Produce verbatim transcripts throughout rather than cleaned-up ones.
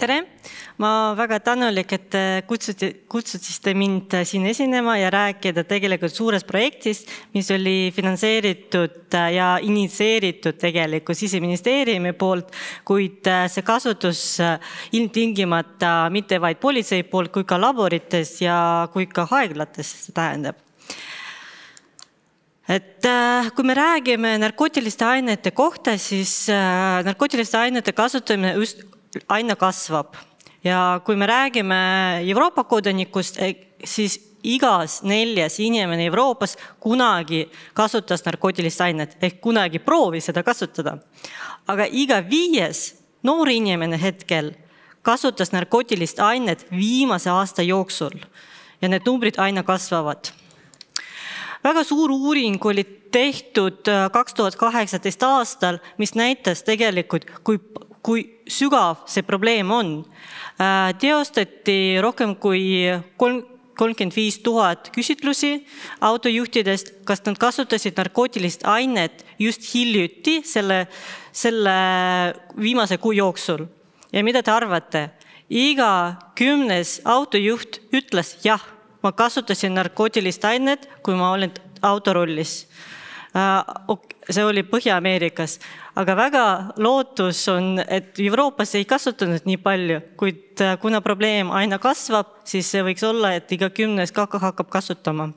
Tere! Ma väga tänulik, et kutsutsite mind siin esinema ja rääkida tegelikult suurest projektist, mis oli finantseeritud ja initseeritud tegelikult Siseministeeriumi poolt, kuid see kasutus ilmtingimata mitte vaid politsei poolt, kui ka laborites ja kui ka haiglates see tähendab. Et kui me räägime narkootiliste ainete kohta, siis narkootiliste ainete kasutamine just aina kasvab. Ja kui me räägime Euroopa kodanikust, siis igas neljas inimene Euroopas kunagi kasutas narkootilist ainet, ehk kunagi proovis seda kasutada. Aga iga viies noor inimene hetkel kasutas narkootilist ainet viimase aasta jooksul ja need numbrid aina kasvavad. Väga suur uuring oli tehtud kaks tuhat kaheksateist aastal, mis näitas tegelikult, kui kui sügav see probleem on. Teostati rohkem kui kolmkümmend viis tuhat küsitlusi autojuhtidest, kas nad kasutasid narkootilist ainet just hiljuti selle, selle viimase kuu jooksul. Ja mida te arvate? Iga kümnes autojuht ütles, jah, ma kasutasin narkootilist ainet, kui ma olen autorollis. See oli Põhja-Ameerikas, aga väga lootus on, et Euroopas ei kasutanud nii palju, kuid kuna probleem aina kasvab, siis see võiks olla, et iga kümnes kaka hakkab kasutama.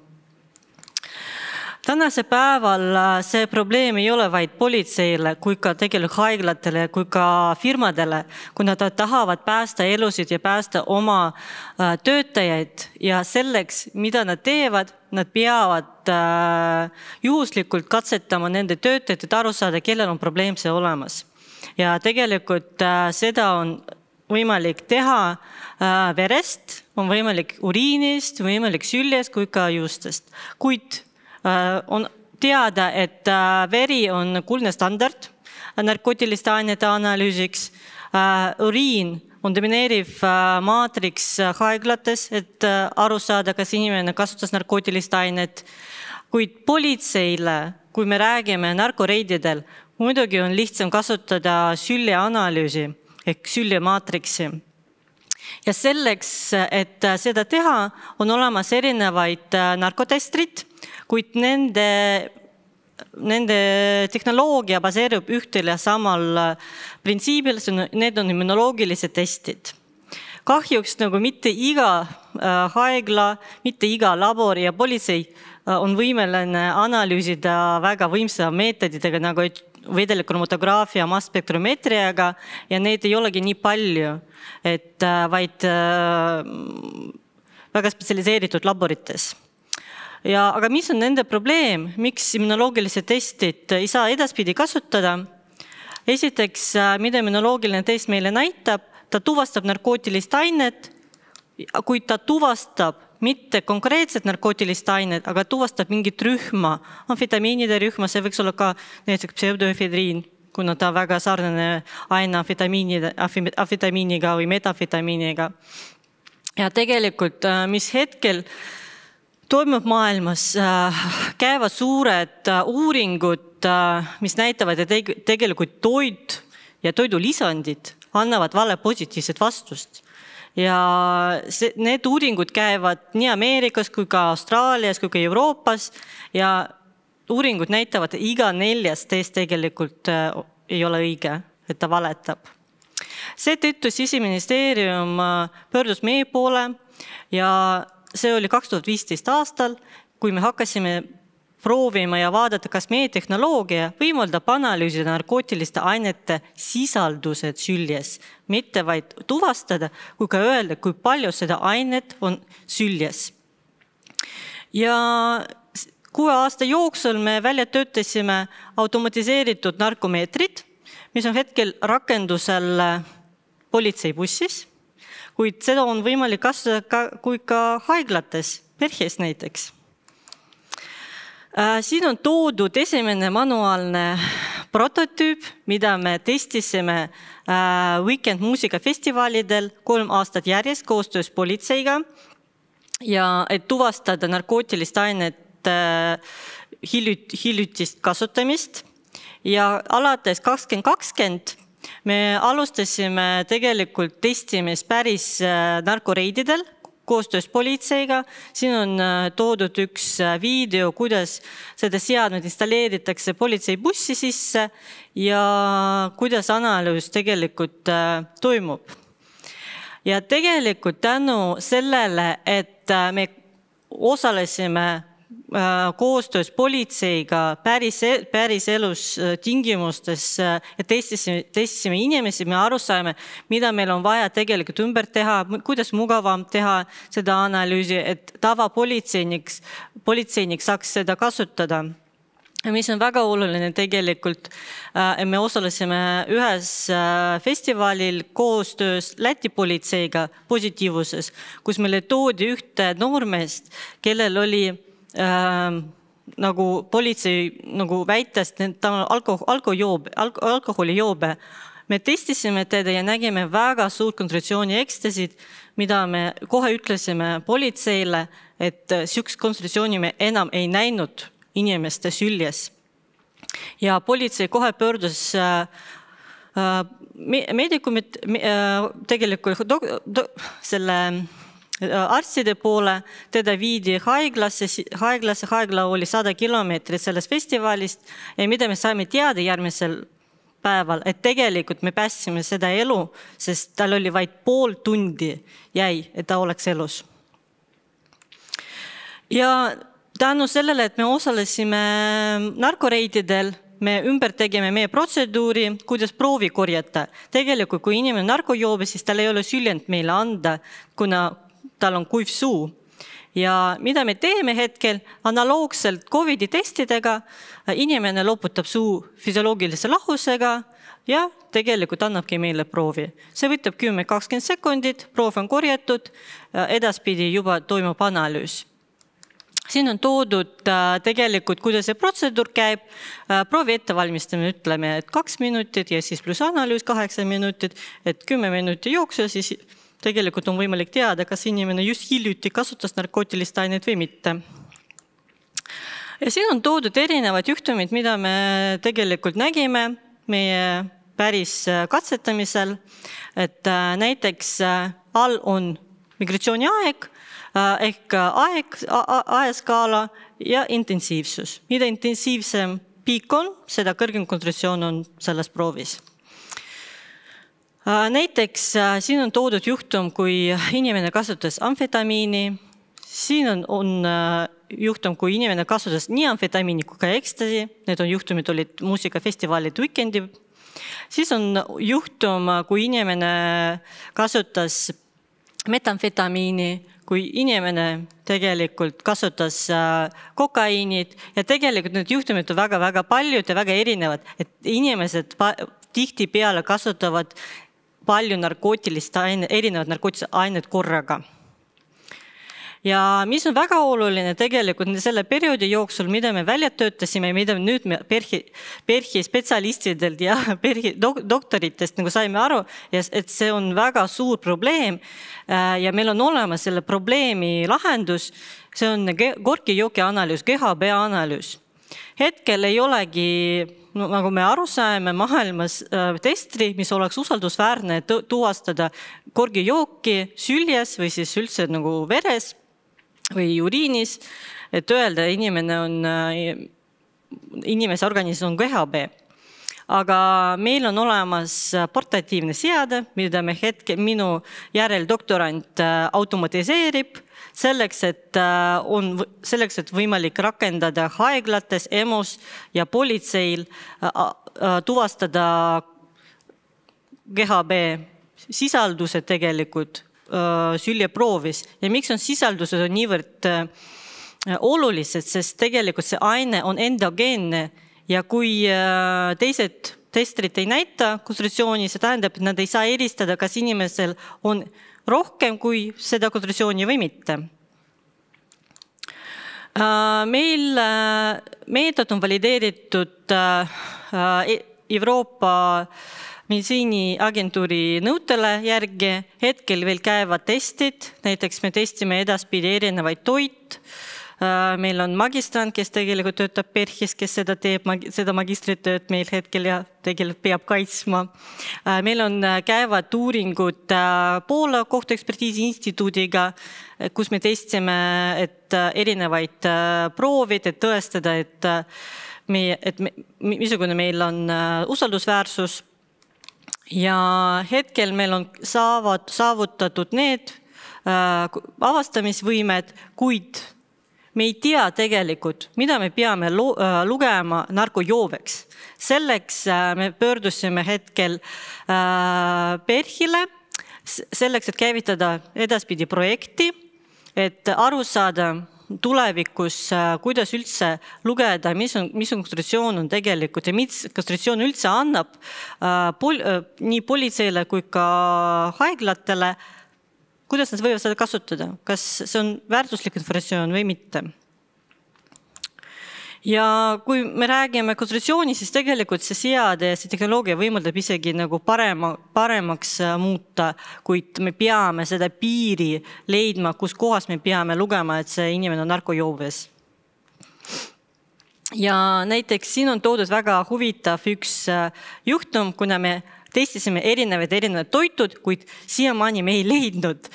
Tänase päeval see probleem ei ole vaid politseile, kui ka tegelikult haiglatele, kui ka firmadele, kui nad tahavad päästa elusid ja päästa oma töötajaid ja selleks, mida nad teevad, nad peavad juhuslikult katsetama nende töötajad, et aru saada, kellel on probleem see olemas. Ja tegelikult seda on võimalik teha verest, on võimalik uriinist, võimalik süljest kui ka juustest. Kuid on teada, et veri on kuldne standard narkootiliste ainete analüüsiks. Uriin on domineeriv maatriks haiglates, et aru saada, kas inimene kasutas narkootilist ainet. Kuid politseile, kui me räägime narkoreididel, muidugi on lihtsam kasutada sülje analüüsi ehk sülje maatriksi. Ja selleks, et seda teha, on olemas erinevaid narkotestrid, kuid nende, nende tehnoloogia baseerub ühtel ja samal printsiibil, need on immunoloogilised testid. Kahjuks nagu mitte iga haigla, mitte iga labor ja politsei on võimeline analüüsida väga võimsa meetoditega nagu vedelikromotograafia, masspektrometriaga ja neid ei olegi nii palju, et vaid väga spetsialiseeritud laborites. Ja, aga mis on nende probleem? Miks immunoloogilised testid ei saa edaspidi kasutada? Esiteks, mida immunoloogiline test meile näitab, ta tuvastab narkootilist ainet, kuid ta tuvastab mitte konkreetset narkootilist ainet, aga tuvastab mingit rühma, amfetamiinide rühma, see võiks olla ka näiteks pseudoefedriin, kuna ta väga sarnane aine amfetamiiniga või metafetamiiniga. Ja tegelikult, mis hetkel toimub maailmas, käivad suured uuringud, mis näitavad, et tegelikult toit ja toidulisandid annavad vale positiivset vastust. Ja see, need uuringud käivad nii Ameerikas kui ka Austraalias kui ka Euroopas ja uuringud näitavad, et iga neljas teist tegelikult ei ole õige, et ta valetab. Seetõttu Siseministeerium pöördus meie poole ja see oli kaks tuhat viisteist aastal, kui me hakkasime proovima ja vaadata, kas meie tehnoloogia võimaldab analüüsida narkootiliste ainete sisaldused süljes, mitte vaid tuvastada, kui ka öelda, kui palju seda ainet on süljes. Ja kuue aasta jooksul me välja töötasime automatiseeritud narkomeetrid, mis on hetkel rakendusel politseibussis, kuid seda on võimalik kasutada kui ka haiglates, perhes näiteks. Siin on toodud esimene manuaalne prototüüp, mida me testisime Weekend muusikafestivalidel kolm aastat järjest koostöös politseiga ja et tuvastada narkootilist ainet hiljutist kasutamist ja alates kakskümmend kakskümmend Me alustasime tegelikult testimist päris narkoreididel koostöös politseiga. Siin on toodud üks video, kuidas seda seadmed installeeritakse politseibussi sisse ja kuidas analüüs tegelikult toimub. Ja tegelikult tänu sellele, et me osalesime koostöös politseiga päris, päris elus tingimustes ja testisime, testisime inimesi, me aru saime, mida meil on vaja tegelikult ümber teha, kuidas mugavam teha seda analüüsi, et tavapolitseinik politseinik saaks seda kasutada. Mis on väga oluline tegelikult, me osalesime ühes festivalil koostöös Läti politseiga positiivsuses, kus meile toodi ühte noormeest, kellel oli Äh, nagu politsei nagu väites, et ta on alko, alkojoobe, alko, alkoholijoobe. Me testisime teda ja nägime väga suurt kontsentratsiooni ekstasid, mida me kohe ütlesime politseile, et sihukest kontsentratsiooni me enam ei näinud inimeste süljes. Ja politsei kohe pöördus äh, medikumid äh, tegelikult do, do, selle arstide poole, teda viidi haiglasse, haiglasse, haigla oli sada kilomeetrit sellest festivalist ja mida me saime teada järgmisel päeval, et tegelikult me päästsime seda elu, sest tal oli vaid pool tundi jäi, et ta oleks elus. Ja tänu sellele, et me osalesime narkoreididel, me ümber tegime meie protseduuri, kuidas proovi korjata. Tegelikult, kui inimene narkojoobe, siis tal ei ole süljend meile anda, kuna tal on kuiv suu. Ja mida me teeme hetkel, analoogselt COVID-i testidega, inimene loputab suu füsioloogilise lahusega ja tegelikult annabki meile proovi. See võtab kümme kuni kakskümmend sekundit, proov on korjatud, edaspidi juba toimub analüüs. Siin on toodud tegelikult, kuidas see protseduur käib. Proovi ettevalmistamine ütleme, et kaks minutit ja siis pluss analüüs kaheksa minutit, et kümme minutit jooksul, siis tegelikult on võimalik teada, kas inimene just hiljuti kasutas narkootilist ainet või mitte. Ja siin on toodud erinevad juhtumid, mida me tegelikult nägime meie päris katsetamisel, et näiteks all on migratsiooni aeg, ehk aeg, aeskaala ja intensiivsus. Mida intensiivsem piik on, seda kõrgem kontsentratsioon on selles proovis. Näiteks siin on toodud juhtum, kui inimene kasutas amfetamiini. Siin on, on juhtum, kui inimene kasutas nii amfetamiini kui ka ekstasi. Need on juhtumid olid muusikafestivalid Weekendi. Siis on juhtum, kui inimene kasutas metamfetamiini, kui inimene tegelikult kasutas kokaiinid ja tegelikult need juhtumid on väga-väga paljud ja väga erinevad, et inimesed tihti peale kasutavad palju narkootilist aine, erinevad narkootilised ained korraga. Ja mis on väga oluline tegelikult selle perioodi jooksul, mida me välja töötasime ja mida nüüd me perhi, perhi spetsialistidelt ja perhi doktoritest nagu saime aru, et see on väga suur probleem ja meil on olemas selle probleemi lahendus, see on Gorki jooki analüüs, G H B analüüs. Hetkel ei olegi, no, nagu me aru saime, maailmas testri, mis oleks usaldusväärne tuvastada Gorki jooki süljes või siis üldse nagu veres või uriinis, et öelda, inimene on, inimese organism on G H B. Aga meil on olemas portatiivne seade, mida me hetke, minu järel doktorant automatiseerib, selleks, et on selleks, et võimalik rakendada haiglates, E M O-s ja politseil tuvastada G H B sisaldused tegelikult süljeproovis. Ja miks on sisaldused on niivõrd olulised, sest tegelikult see aine on endogeenne ja kui teised testrid ei näita kontsentratsiooni, see tähendab, et nad ei saa eristada, kas inimesel on rohkem kui seda kontsentratsiooni või mitte. Meil meetod on valideeritud Euroopa meditsiiniagentuuri nõutele järgi. Hetkel veel käivad testid, näiteks me testime edaspidi erinevaid toit, Meil on magistrant, kes tegelikult töötab PERHis, kes seda teeb, seda magistritööd meil hetkel ja tegelikult peab kaitsma. Meil on käivad uuringud Poola kohtuekspertiisi instituudiga, kus me testsime et erinevaid proovid, et tõestada, et, meie, et me, missugune meil on usaldusväärsus. Ja hetkel meil on saavutatud need avastamisvõimed, kuid me ei tea tegelikult, mida me peame lugema narkojooveks. Selleks me pöördusime hetkel PERHile, selleks, et käivitada edaspidi projekti, et aru saada tulevikus, kuidas üldse lugeda, mis on, mis on konstitutsioon on tegelikult ja mis konstitutsioon üldse annab pol, nii politseile kui ka haiglatele, kuidas nad võivad seda kasutada, kas see on väärtuslik informatsioon või mitte. Ja kui me räägime konstitutsiooni, siis tegelikult see seade ja see tehnoloogia võimaldab isegi nagu parema, paremaks muuta, kuid me peame seda piiri leidma, kus kohas me peame lugema, et see inimene on narkojooves. Ja näiteks siin on toodud väga huvitav üks juhtum, kuna me testisime erinevad erinevad toitud, kuid siiamaani me ei leidnud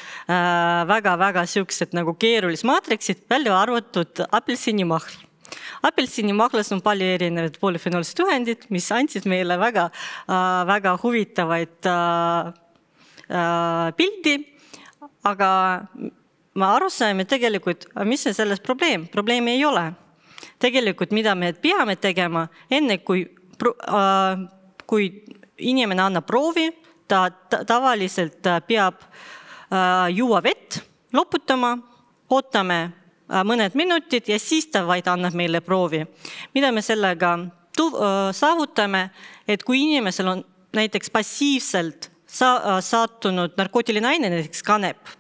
väga-väga siuksed nagu keerulis maatriksid, välja arvatud apelsinimahl. Apelsinimahlas on palju erinevad polüfenoolsed ühendid, mis andsid meile väga, väga huvitavaid pildi, aga ma aru saime tegelikult, mis on selles probleem? Probleemi ei ole. Tegelikult, mida me peame tegema, enne kui, kui inimene annab proovi, ta tavaliselt peab juua vett, loputama, ootame mõned minutid ja siis ta vaid annab meile proovi. Mida me sellega saavutame, et kui inimesel on näiteks passiivselt saatunud narkootiline aine, näiteks kanep,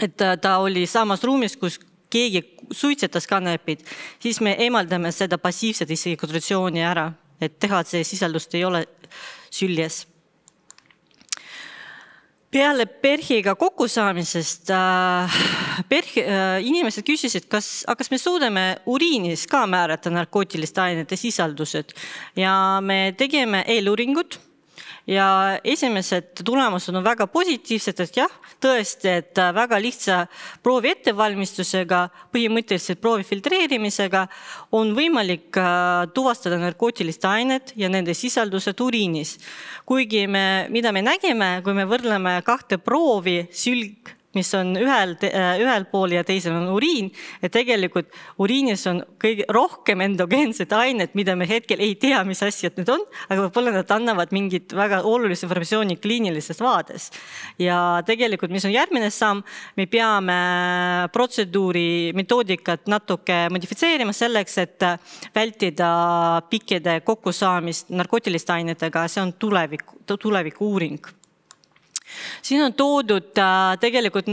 et ta oli samas ruumis, kus keegi suitsetas kanepid, siis me eemaldame seda passiivset isegi kontsentratsiooni ära, et teha, et see sisaldust ei ole süljes. Peale PERHiga kokkusaamisest PERHi, inimesed küsisid, kas, kas me suudame uriinis ka määrata narkootiliste ainete sisaldused ja me tegime eeluuringut ja esimesed tulemused on väga positiivsed, et jah, tõesti, et väga lihtsa proovi ettevalmistusega, põhimõtteliselt proovi filtreerimisega on võimalik tuvastada narkootiliste ainet ja nende sisaldused uriinis. Kuigi me, mida me nägime, kui me võrdleme kahte proovi, sülg, mis on ühel, ühel pool ja teisel on uriin, et tegelikult uriinis on kõige rohkem endogeensed ained, mida me hetkel ei tea, mis asjad need on, aga võib-olla nad annavad mingit väga olulist informatsiooni kliinilisest vaades. Ja tegelikult, mis on järgmine samm, me peame protseduuri metoodikat natuke modifitseerima selleks, et vältida pikkide kokkusaamist narkootiliste ainetega, see on tulevik, tuleviku uuring. Siin on toodud tegelikult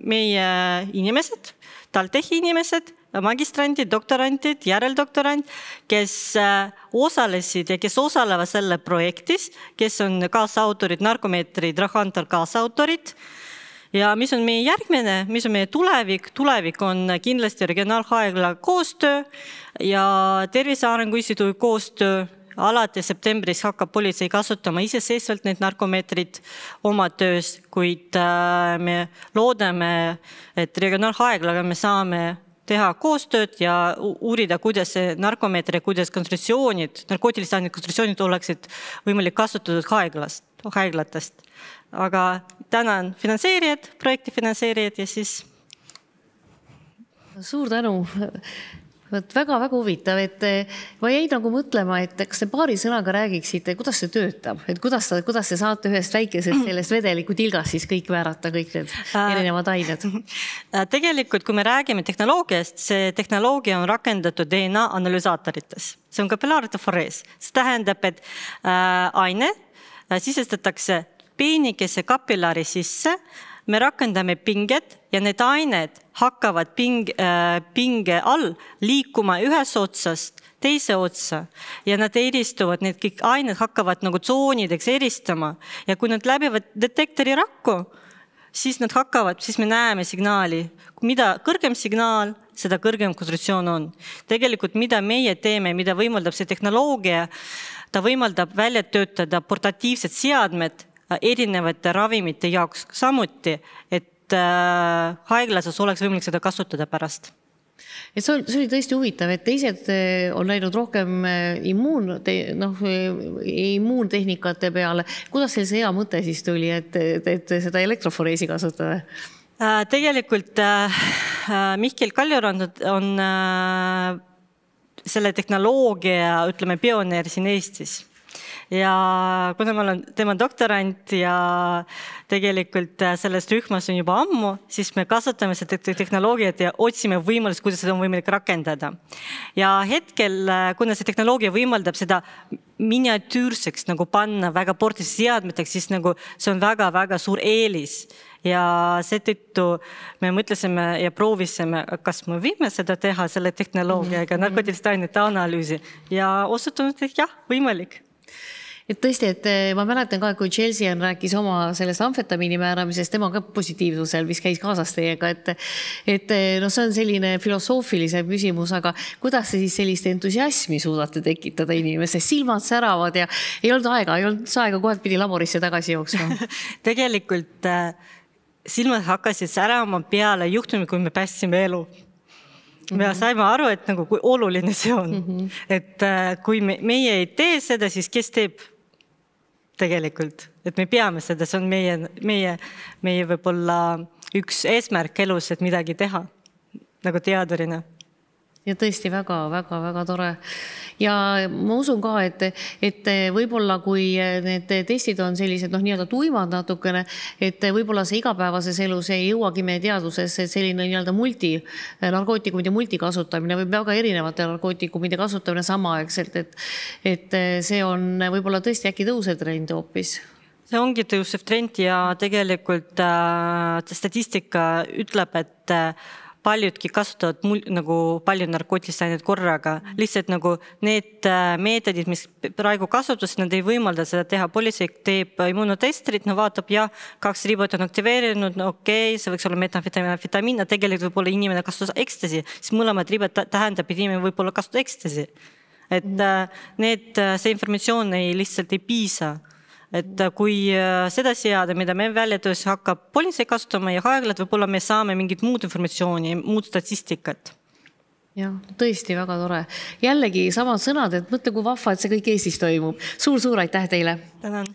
meie inimesed, TalTechi inimesed, magistrandid, doktorantid, järeldoktorant, kes osalesid ja kes osalevad selle projektis, kes on kaasautorid, narkomeetrid, Drahantar kaasautorid. Ja mis on meie järgmine, mis on meie tulevik? Tulevik on kindlasti regionaalhaigla koostöö ja Tervise Arengu Instituudi koostöö. Alates septembris hakkab politsei kasutama iseseisvalt need narkomeetrid oma töös, kuid me loodame, et regionaalhaiglaga me saame teha koostööd ja uurida, kuidas see narkomeetri ja kuidas kontsentratsioonid, narkootiliste ainete kontsentratsioonid oleksid võimalik kasutatud haiglast, haiglatest. Aga tänan finantseerijad, projekti finantseerijad ja siis... Suur tänu! Väga-väga huvitav, et ma jäin nagu mõtlema, et kas te paari sõnaga räägiksite, kuidas see töötab, et kuidas, kuidas te saate ühest väikesest sellest vedeliku tilgast siis kõik määrata, kõik need erinevad ained? Tegelikult, kui me räägime tehnoloogiast, see tehnoloogia on rakendatud D N A analüsaatorites. See on kapillaaritoforees. See tähendab, et aine sisestatakse peenikese kapillaari sisse, me rakendame pinget ja need ained hakkavad ping, äh, pinge all liikuma ühes otsast teise otsa ja nad eristuvad, need kõik ained hakkavad nagu tsoonideks eristama ja kui nad läbivad detektori rakku, siis nad hakkavad, siis me näeme signaali. Mida kõrgem signaal, seda kõrgem kontsentratsioon on. Tegelikult mida meie teeme, mida võimaldab see tehnoloogia, ta võimaldab välja töötada portatiivsed seadmed erinevate ravimite jaoks samuti, et äh, haiglases oleks võimalik seda kasutada pärast. Et see oli tõesti huvitav, et teised on läinud rohkem immuun, noh, immuuntehnikate peale. Kuidas teil see hea mõte siis tuli, et, et seda elektroforeesi kasutada? Tegelikult Mihkel Kaljurand on selle tehnoloogia, ütleme, pioneer siin Eestis. Ja kuna ma olen tema doktorant ja tegelikult selles rühmas on juba ammu, siis me kasutame seda tehnoloogiat ja otsime võimalust, kuidas seda on võimalik rakendada. Ja hetkel, kuna see tehnoloogia võimaldab seda miniatüürseks nagu panna väga portis seadmeteks, siis nagu see on väga-väga suur eelis. Ja seetõttu me mõtlesime ja proovisime, kas me võime seda teha selle tehnoloogiaga, narkootiliste ainete analüüsi ja osutunud, et jah, võimalik. Et tõesti, et ma mäletan ka, kui Chelsea on rääkis oma sellest amfetamiini määramisest, tema ka positiivsusel, mis käis kaasas teiega, et, et no see on selline filosoofilise küsimus, aga kuidas te siis sellist entusiasmi suudate tekitada inimesest? Silmad säravad ja ei olnud aega, ei olnud aega, kohe pidi laborisse tagasi jooksma. Tegelikult silmad hakkasid särama peale juhtumil, kui me päästsime elu. Me saime aru, et nagu kui oluline see on. Mm-hmm. Et kui me, meie ei tee seda, siis kes teeb tegelikult? Et me peame seda, see on meie, meie, meie võib-olla üks eesmärk elus, et midagi teha nagu teadurina. Ja tõesti väga, väga, väga tore. Ja ma usun ka, et, et võib-olla kui need testid on sellised, noh, nii-öelda tuimad natukene, et võib-olla see igapäevases elus ei jõuagi meie teaduses selline nii-öelda multi, narkootikumide multikasutamine või väga erinevate narkootikumide kasutamine samaaegselt, et, et see on võib-olla tõesti äkki tõusev trend hoopis. See ongi tõusev trend ja tegelikult äh, statistika ütleb, et äh, paljudki kasutavad mul, nagu palju narkootilisi aineid korraga. Lihtsalt nagu need meetodid, mis praegu kasutus, nad ei võimalda seda teha. Politsei teeb immunotestrid, no vaatab, jah, kaks ribot on aktiveerinud, no okei, okay, see võiks olla metamfetamiin, amfetamiin, tegelikult võib olla inimene kasutas ekstasi, siis mõlemad ribot tähendab, et inimene võib olla kasutada ekstasi. Et need, see informatsioon ei lihtsalt ei piisa. Et kui seda seada, mida me välja töös hakkab politsei kasutama ja haiglad, võib-olla me saame mingit muud informatsiooni, muud statistikat. Jah, tõesti väga tore. Jällegi samad sõnad, et mõtle, kui vahva, et see kõik Eestis toimub. Suur-suur aitäh teile! Tänan!